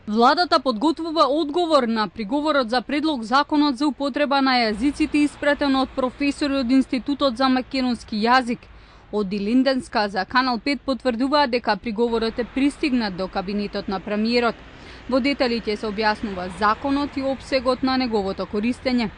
Владата подготвува одговор на приговорот за предлог законот за употреба на јазиците испратен од професори од Институтот за македонски јазик. Од Илинденска за Канал 5 потврдуваат дека приговорот е пристигнат до кабинетот на премиерот. Во деталите се објаснува законот и опсегот на неговото користење.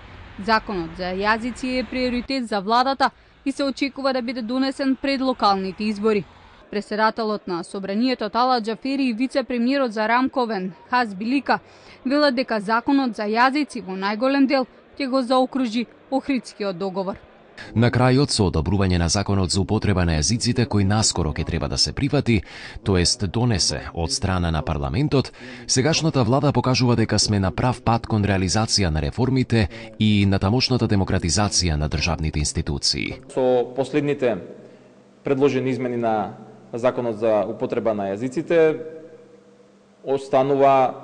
Законот за јазици е приоритет за владата и се очекува да биде донесен пред локалните избори. Председателот на Собранието Тала Џафери и вице-премиерот за Рамковен Хаз Билика велат дека законот за јазици во најголем дел ќе го заокружи Охридскиот договор. На крајот, со одобрување на законот за употреба на јазиците кој наскоро ќе треба да се прифати, тоест донесе од страна на парламентот, сегашната влада покажува дека сме на прав пат кон реализација на реформите и на тамошната демократизација на државните институции. Со последните предложени измени на законот за употреба на јазиците останува,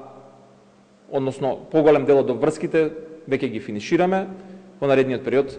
односно поголем дел од врските веќе ги финишираме. Во наредниот период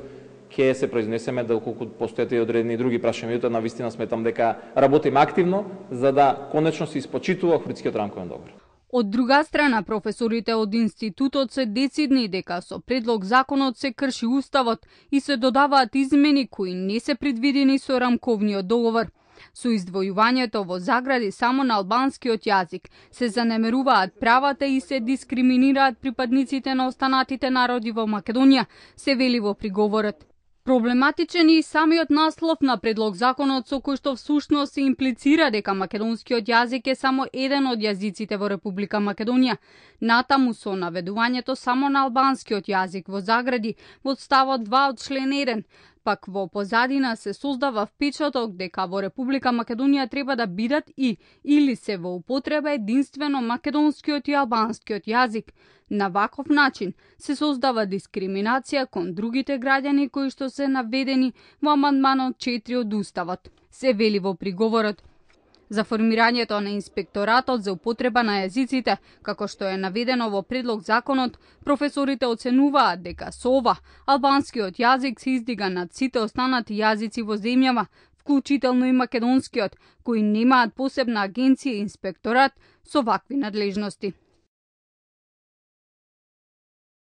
ќе се произнесеме доколку постојат и одредени други прашања. На вистина сметам дека работиме активно за да конечно се испочитува Охридскиот рамковен договор. Од друга страна, професорите од институтот се децидни дека со предлог законот се крши уставот и се додаваат измени кои не се предвидени со рамковниот договор. Со издвојувањето во загради само на албанскиот јазик се занемеруваат правата и се дискриминираат припадниците на останатите народи во Македонија, се вели во приговорот. Проблематичен е и самиот наслов на предлог законот со кој што всушност се имплицира дека македонскиот јазик е само еден од јазиците во Република Македонија. Натаму со наведувањето само на албанскиот јазик во загради во ставот 2 од член 1, пак во позадина се создава впечаток дека во Република Македонија треба да бидат или се во употреба единствено македонскиот и албанскиот јазик. На ваков начин се создава дискриминација кон другите граѓани кои што се наведени во амандманот 4 од Уставот, се вели во приговорот. За формирањето на инспекторатот за употреба на јазиците, како што е наведено во предлог законот, професорите оценуваат дека со ова албанскиот јазик се издига над сите останати јазици во земјава, вклучително и македонскиот, кои немаат посебна агенција и инспекторат со вакви надлежности.